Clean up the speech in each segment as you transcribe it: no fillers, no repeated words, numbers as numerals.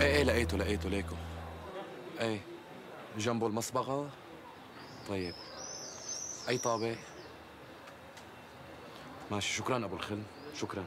ايه لقيته ليكو. ايه جنبه المصبغة. طيب أي طابق؟ ماشي، شكراً أبو الخل، شكراً.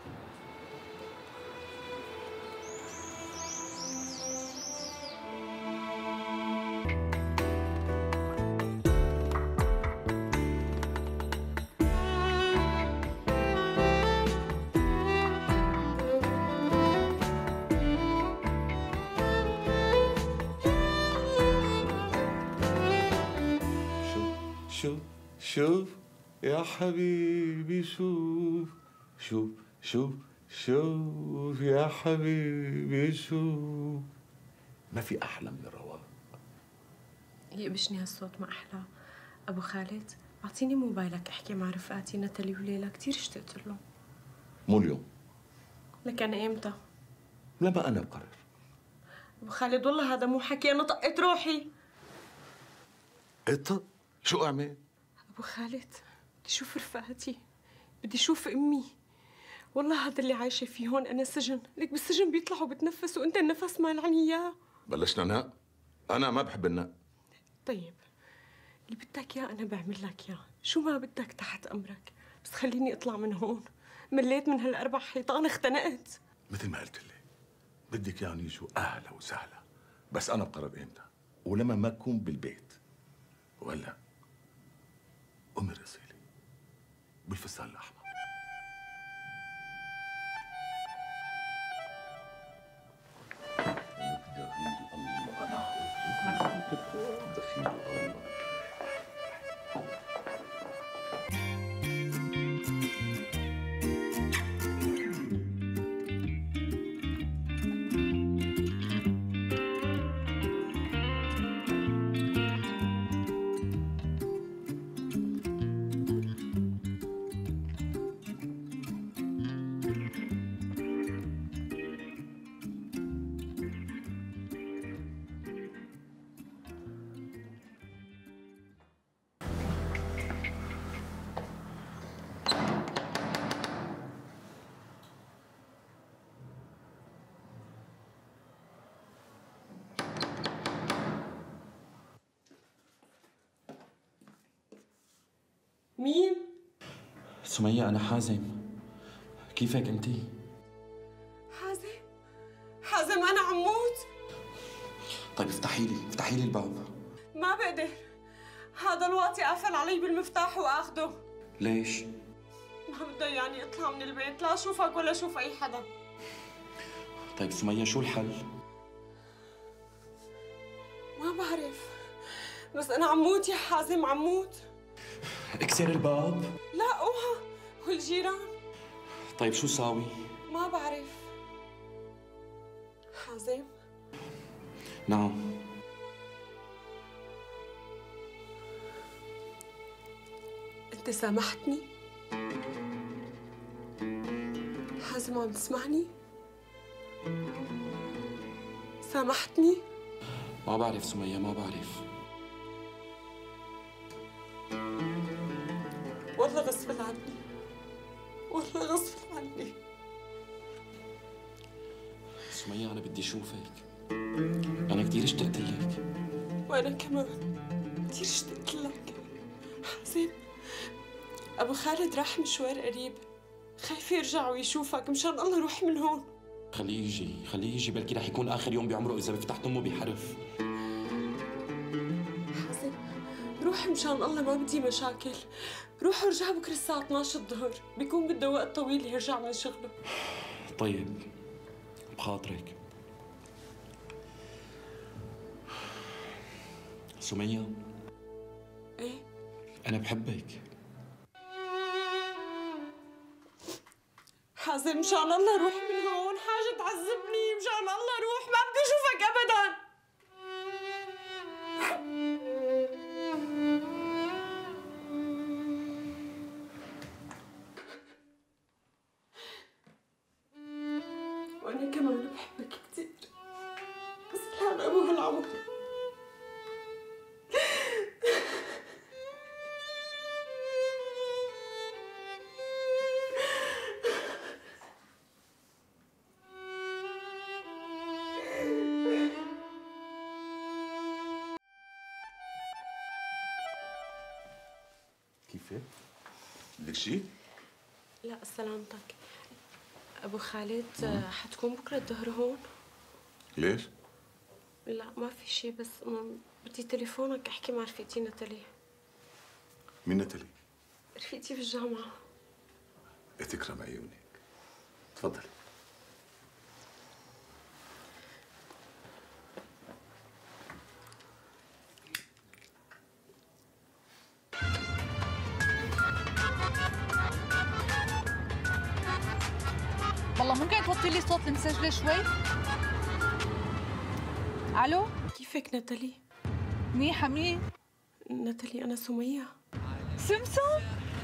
شوف يا حبيبي، شوف يا حبيبي، شوف. ما في أحلى من الرواق. يقبشني هالصوت ما أحلى. أبو خالد أعطيني موبايلك أحكي مع رفقاتي نتالي وليلى، كتير اشتقت لهم. مو اليوم. لك أنا إمتى؟ لما أنا بقرر. أبو خالد والله هذا مو حكي، أنا طقت روحي. إطق؟ شو أعمل؟ أبو خالد بدي أشوف رفقاتي، بدي أشوف أمي. والله هذا اللي عايشة فيه هون أنا سجن، لك بالسجن بيطلعوا بتنفسوا وأنت النفس مانعني إياه. بلشنا نق؟ أنا ما بحب النق. طيب اللي بدك إياه أنا بعمل لك إياه، شو ما بدك تحت أمرك، بس خليني أطلع من هون. مليت من هالأربع حيطان، اختنقت. مثل ما قلت لي بدك يعني يجوا أهلا وسهلا، بس أنا بقرر إمتى ولما ما أكون بالبيت. ولا أمي رسيلي بالفستان الأحمر. دخيل الله. مين؟ سمية أنا حازم، كيفك أنتي؟ حازم أنا عم موت. طيب افتحي لي الباب. ما بقدر، هذا الوقت قافل علي بالمفتاح وآخده. ليش؟ ما بده يعني اطلع من البيت، لا اشوفك ولا اشوف أي حدا. طيب سمية شو الحل؟ ما بعرف، بس أنا عم موت يا حازم، عم موت. اكسر الباب. لا اوعى، والجيران. طيب شو ساوي؟ ما بعرف. حازم. نعم. أنت سامحتني؟ حازم عم تسمعني؟ سامحتني؟ ما بعرف سمية، ما بعرف. والله غصب عني، والله غصب عني. سمية أنا بدي أشوفك، أنا كتير اشتقت لك. وأنا كمان كتير اشتقت لك. حازم، أبو خالد راح مشوار قريب، خايف يرجع ويشوفك، مشان الله روح من هون. خليه يجي بلكي رح يكون آخر يوم بعمره إذا بفتحت أمه بحرف. حازم روح مشان الله، ما بدي مشاكل. روح ورجع بكره الساعة 12 الظهر، بيكون بده وقت طويل يرجع من شغله. طيب بخاطرك. سمية. ايه؟ أنا بحبك. حازم مشان الله روح من هون، حاجة تعذبني، مشان الله روح، ما بدي اشوفك ابدا. وانا كمان بحبك كثير، بس الحال مو هالعمر. كيفك؟ بدك شيء؟ لا سلامتك. ابو خالد حتكون بكره الظهر هون؟ ليش؟ لا ما في شيء، بس بدي تليفونك احكي مع رفيقتي نتالي. مين نتالي؟ رفيقتي بالجامعه. تكرم عيونك. تفضلي. والله ممكن توطي لي صوت المسجله شوي؟ الو؟ كيفك نتالي؟ منيحه. مين؟ نتالي انا سميه. سمسم؟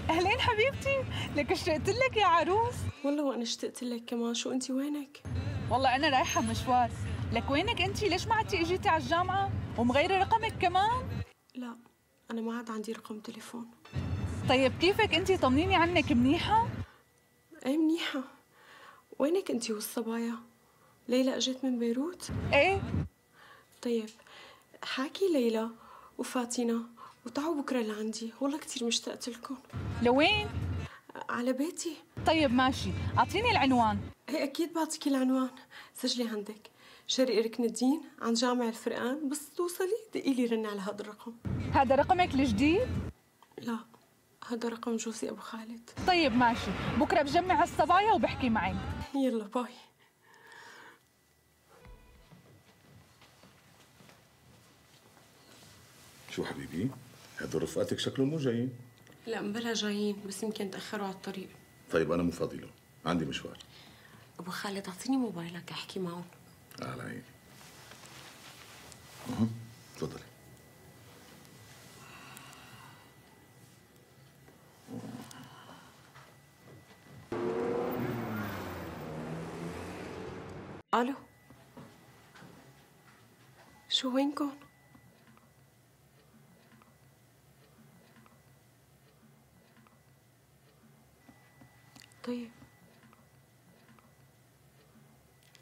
اهلين حبيبتي، لك اشتقت لك يا عروس. والله وانا اشتقت لك كمان. شو انت وينك؟ والله انا رايحه مشوار. لك وينك انت؟ ليش ما عدتي اجيتي على الجامعه ومغيره رقمك كمان؟ لا انا ما عاد عندي رقم تليفون. طيب كيفك انت؟ طمنيني عنك. منيحه؟ ايه منيحه. وينك انت والصبايا؟ ليلى اجت من بيروت؟ ايه. طيب حاكي ليلى وفاتنة وتعوا بكره لعندي، والله كثير مشتقت لكم. لوين؟ على بيتي. طيب ماشي، اعطيني العنوان. ايه اكيد بعطيكي العنوان، سجلي عندك. شرقي ركن الدين عن جامع الفرقان، بس توصلي دقي لي رن على هذا الرقم. هذا رقمك الجديد؟ لا هذا رقم جوزي ابو خالد. طيب ماشي، بكره بجمع الصبايا وبحكي معك. يلا باي. شو حبيبي؟ هدول رفقاتك شكلهم مو جايين. لا مبلا جايين، بس يمكن تاخروا على الطريق. طيب انا مو فاضي لهم، عندي مشوار. ابو خالد اعطيني موبايلك احكي معهم. على عيني. تفضلي. الو، شو وينكم؟ طيب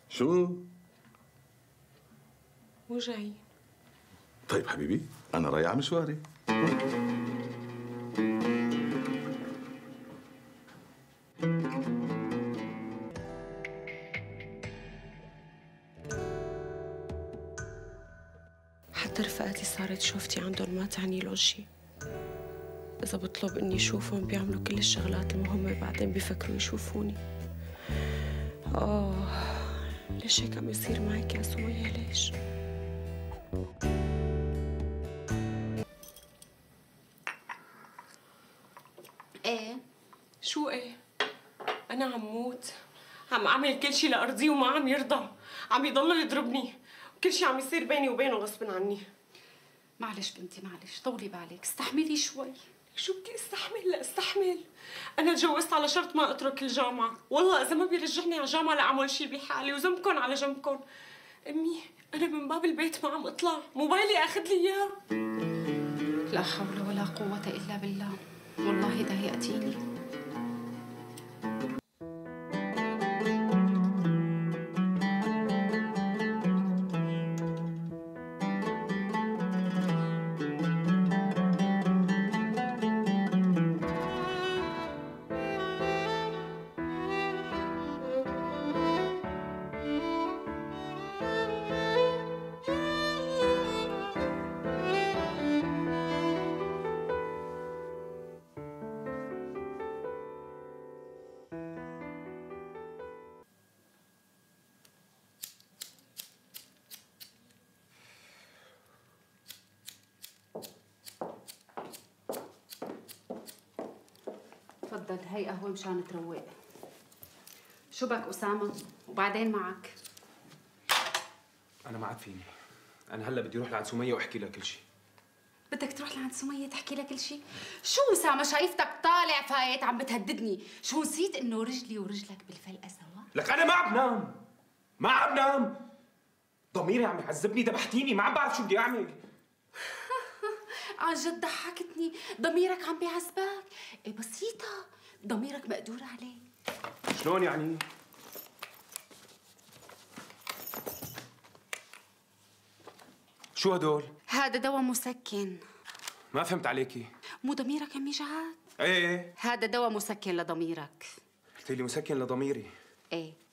شو؟ مو جايين. طيب حبيبي انا رايح على مشواري. حتى رفقاتي صارت شوفتي عندهم ما تعني له شيء. إذا بطلب إني أشوفهم بيعملوا كل الشغلات المهمة، بعدين بيفكروا يشوفوني. ليش هيك عم يصير معك يا سمية؟ ليش؟ ايه؟ شو ايه؟ أنا عم موت، عم أعمل كل شيء لأرضيه وما عم يرضى، عم يضل يضربني، وكل شيء عم يصير بيني وبينه غصب عني. معلش بنتي معلش، طولي بالك، استحملي شوي. شو بدي استحمل؟ لا استحمل. أنا تجوزت على شرط ما أترك الجامعة، والله إذا ما بيرجعني على الجامعة لأعمل شيء بحالي، وذنبكم على جنبكم. أمي أنا من باب البيت ما عم أطلع، موبايلي أخذ لي إياه. لا حول ولا قوة إلا بالله، والله ضايقتيني. تفضل، هي قهوة مشان تروق. شو بك أسامة؟ وبعدين معك؟ أنا ما عاد فيني. أنا هلا بدي أروح لعند سمية وأحكي لها كل شيء. بدك تروح لعند سمية تحكي لها كل شيء؟ شو أسامة شايفتك طالع فايت عم بتهددني؟ شو نسيت إنه رجلي ورجلك بالفلقة سوا؟ لك أنا ما عم نام، ما عم نام. ضميري عم يعذبني، ذبحتيني، ما عم بعرف شو بدي أعمل. عن جد ضحكتني، ضميرك عم بيعذبك. إيه بسيطة، ضميرك مقدور عليه. شلون يعني؟ شو هدول؟ هذا دواء مسكن. ما فهمت عليكي. مو ضميرك عم يجعك؟ ايه هذا دواء مسكن لضميرك. قلت لي مسكن لضميري. ايه.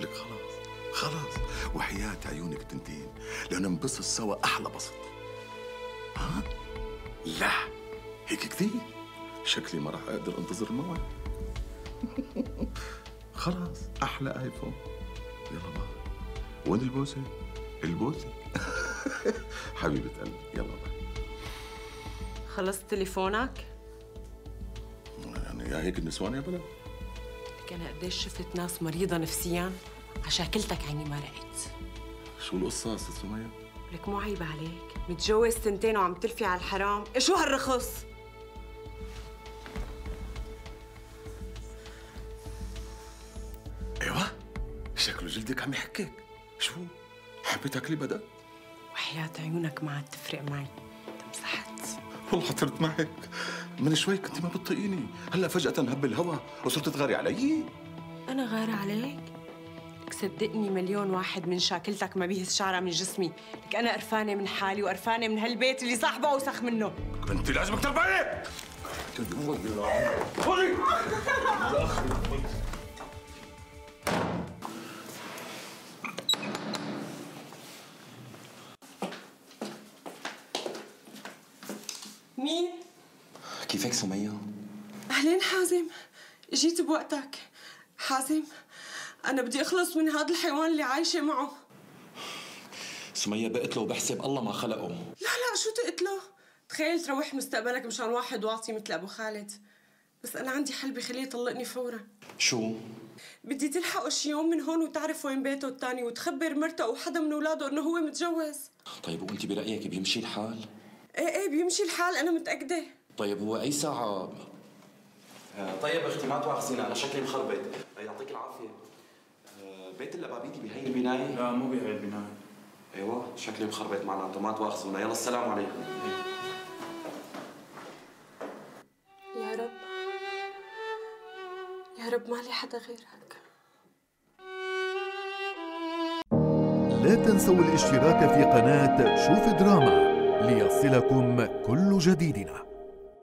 لك خلاص وحياة عيونك تنتين لأنه ننبسط سوا أحلى بسط. ها؟ لا هيك كثير شكلي ما راح أقدر أنتظر الموعد. خلاص أحلى آيفون. يلا بقى وين البوسة؟ البوسة. حبيبة قلبي يلا بقى. خلصت تليفونك؟ يعني يا هيك النسوان يا بلا. لك أنا قديش شفت ناس مريضة نفسياً عشاكلتك عيني ما رقت. شو القصة أستاذ سمية؟ لك مو عيب عليك، متجوز 2 وعم تلفي على الحرام، شو هالرخص؟ ايوه شكله جلدك عم يحكيك. شو؟ حبيتك لي بدأ؟ وحياة عيونك ما عاد تفرق معي، تمسحت. والله حضرت معك من شوي كنت ما بتطيقيني، هلا فجأة هب الهوا وصرت تغاري علي. أنا غارة عليك؟ لك صدقني مليون واحد من شاكلتك ما بيهز شعرة من جسمي، لك أنا قرفانة من حالي وقرفانة من هالبيت اللي صاحبه أوسخ منه. انت لازمك تربعي. مين؟ كيفك سمية؟ أهلين حازم، جيت بوقتك. حازم أنا بدي أخلص من هذا الحيوان اللي عايشة معه. سمية بقتله وبحسب الله ما خلقه. لا شو تقتله؟ تخيل تروح مستقبلك مشان واحد واطي مثل أبو خالد. بس أنا عندي حل بخليه يطلقني فورا. شو؟ بدي تلحقه شي يوم من هون وتعرف وين بيته الثاني وتخبر مرته أو حدا من أولاده إنه هو متجوز. طيب وأنت برأيك بيمشي الحال؟ إيه بيمشي الحال، أنا متأكدة. طيب هو أي ساعة؟ طيب أختي ما تواخذينا أنا شكلي مخربط. يعطيك العافية. بيت اللبابيدي بهي البناية؟ لا مو بهي البناية. ايوه شكلي مخربط معناته ما تواخذونا. يلا السلام عليكم. يا رب ما لي حدا غيرك. لا تنسوا الاشتراك في قناة شوف دراما ليصلكم كل جديدنا.